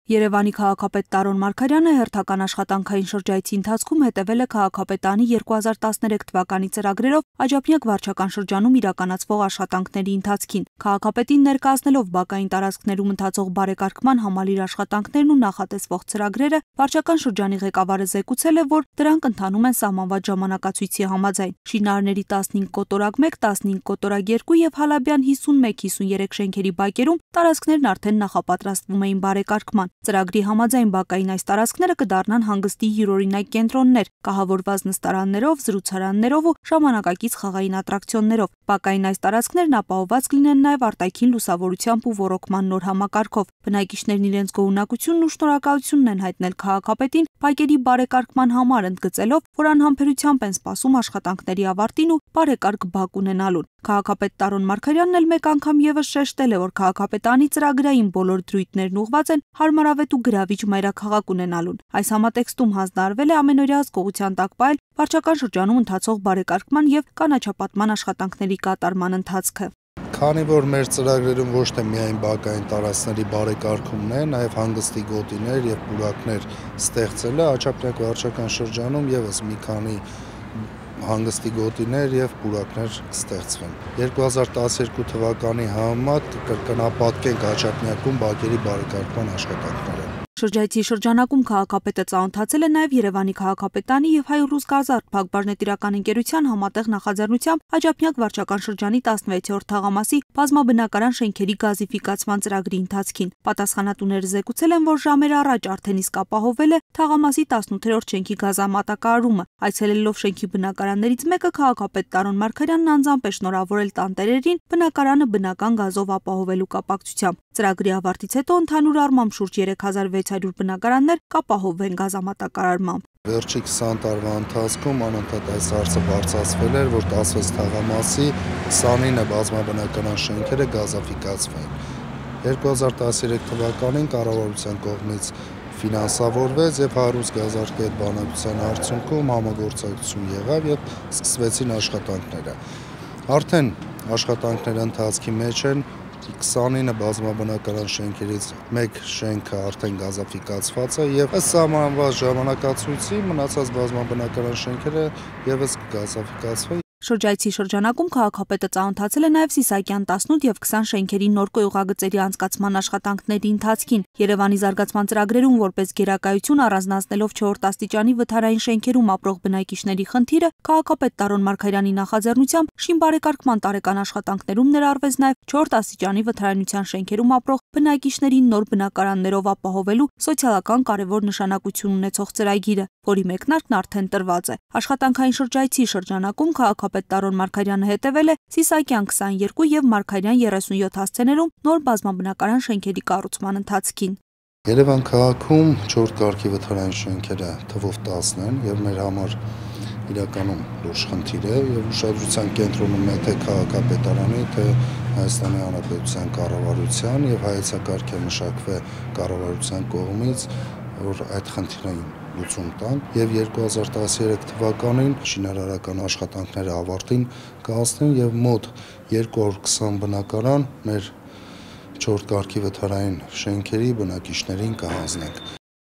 Երևանի քաղաքապետ Տարոն Մարգարյանը հերթական աշխատանքային շրջայցի ընթացքում հետևել է քաղաքապետարանի 2013 թվականի ծրագրերով Աջափնյակ վարչական շրջանում իրականացվող աշխատանքների ընթացքին։ Քաղաքապետին ներկայացնելով բակային տարածքներում ընթացող բարեկարգման համալիր աշխատանքներն ու նախատեսվող ծրագրերը, վարչական շրջանի ղեկավարը զեկուցել է, որ դրանք ընթանում են սահմանված ժամանակացույցի համաձայն։ Շինարարների 15 կոտորակ 1, 15 կոտորակ 2 եւ Հալաբյան 51-53 շենքերի բակերում տարածքներն արդեն նախապատրաստվում էին բարեկարգման։ Ծրագրի համաձայն բակային այս տարածքները կդառնան հանգստի յուրօրինակ կենտրոններ, կահավորված նստարաններով, զրուցարաններով ու ժամանակակից խաղային ատրակցիոններով։ Բակային այս տարածքներն ապահովված կլինեն նաև արտաքին լուսավորությամբ ու ոռոգման նոր համակարգով։ Բնակիչներն իրենց գոհունակությունն ու շնորհակալությունն են հայտնել քաղաքապետին բակերի բարեկարգման համար, ընդգծելով, որ անհամբերությամբ են սպասում աշխատանքների ավարտին ու բարեկարգ բակ ունենալուն։ Քաղաքապետ Տարոն Մարգարյանն էլ մեկ անգամ եւս շեշտել է, որ քաղաքապետարանի ծրագրային բոլոր դրույթներն ուղղված են հարմարավետ ու գրավիչ մայրաքաղաք ունենալուն։ Այս համատեքստում հանձնարարվել է ամենօրյա հսկողության տակ պահել վարչական շրջանում ընթացող բարեկարգման եւ կանաչապատման աշխատանքների կատարման ընթացքը։ Քանի որ մեր ծրագրերում ոչ թե միայն բակային տարածքների բարեկարգումն է, նաև հանգստի գոտիներ եւ պուրակներ ստեղծելը, Աջափնյակ վարչական շրջանում եւս մի քանի հանգստի գոտիներ եւ պուրակներ կստեղծվեն։ 2012 թվականի համեմատ կրկնապատկենք Աջափնյակում բակերի բարեկարգման աշխատանքները։ Շրջայցի շրջանակում քաղաքապետը ծանոթացել է նաև Երևանի քաղաքապետարանի եւ Հայ-Ռուս Գազարդ Փակbaşնետիրական ընկերության համատեղ նախաձեռնությամբ Աջափնյակ վարչական շրջանի 16-րդ թաղամասի բազմաբնակարան շենքերի գազիֆիկացման ծրագրի ընթացքին։ Պատասխանատուները զեկուցել են, որ ժամեր առաջ արդեն իսկ ապահովել է թաղամասի 18-րդ շենքի գազամատակարարումը։ Այցելելով շենքի բնակարաններից մեկը քաղաքապետ Տարոն Մարգարյանն անձամբ է շնորհավորել տանտերերին բնակարանը բնական գազով ապահովելու կապակցությամբ։ Ծրագրի ավարտից հետո ընդհանուր առմամբ շուրջ 3600 բնակարաններ կապահովվեն գազամատակարարմամբ։ Վերջի 20 տարվա ընթացքում անընդհատ այս հարցը բարձրացվել էր, որ 16 թաղամասի 29 բազմաբնակարան շենքերը գազաֆիկացվեն։ 2013 թվականին կառավարության կողմից ֆինանսավորվեց եւ Հայ-Ռուս Գազարդ բանակցության արդյունքում համագործակցություն եղավ եւ սկսվեցին աշխատանքները։ Արդեն աշխատանքները ընթացքի մեջ են 29 բազմաբնակարան շենքերից մեկ շենքը արդեն գազաֆիկացված է եւ ըստ սահմանված ժամանակացույցի մնացած բազմաբնակարան շենքերը եւս կգազաֆիկացվեն։ Շրջայցի շրջանակում քաղաքապետը ծանոթացել է նաև Սիսակյան 18 եւ 20 շենքերի նոր կոյուղագծերի անցկացման աշխատանքների ընթացքին։ Երևանի զարգացման ծրագրերում որպես գերակայություն առանձնացնելով 4-րդ աստիճանի վթարային շենքերում ապրող բնակիչների խնդիրը, քաղաքապետ Տարոն Մարգարյանի նախաձեռնությամբ շինբարեկարգման տարեկան աշխատանքներում ներառվեց նաև 4-րդ աստիճանի վթարայնության շենքերում ապրող բնակիչներին նոր բնակարաններով ապահովելու սոցիալական կարևոր նշանակություն ունեցող ծրագիրը, որի մեկնարկն արդեն տրված է։ Աշխատանքային շրջայցի շրջանակում քաղաքապետ Տարոն Մարգարյանը հետևել է Սիսակյան 22 եւ Մարգարյան 37 հասցեներում նոր բազմաբնակարան շենքերի կառուցման ընթացքին։ Երևան քաղաքում 4 կարգի վթարային շենքերը թվով 10 են եւ մեր համար իրականում լուրջ խնդիր է եւ ուշադրության կենտրոնում է թե քաղաքապետարանի, թե Հայաստանի Հանրապետության կառավարության եւ հայեցակարգը մշակվե կառավարության կողմից, որ այդ խնդիրային լուծում տան եւ 2013 թվականին շինարարական աշխատանքները ավարտին կհասնեն եւ մոտ 220 բնակարան մեր 4 կարգի վթարային շենքերի բնակիչներին կհանձնենք։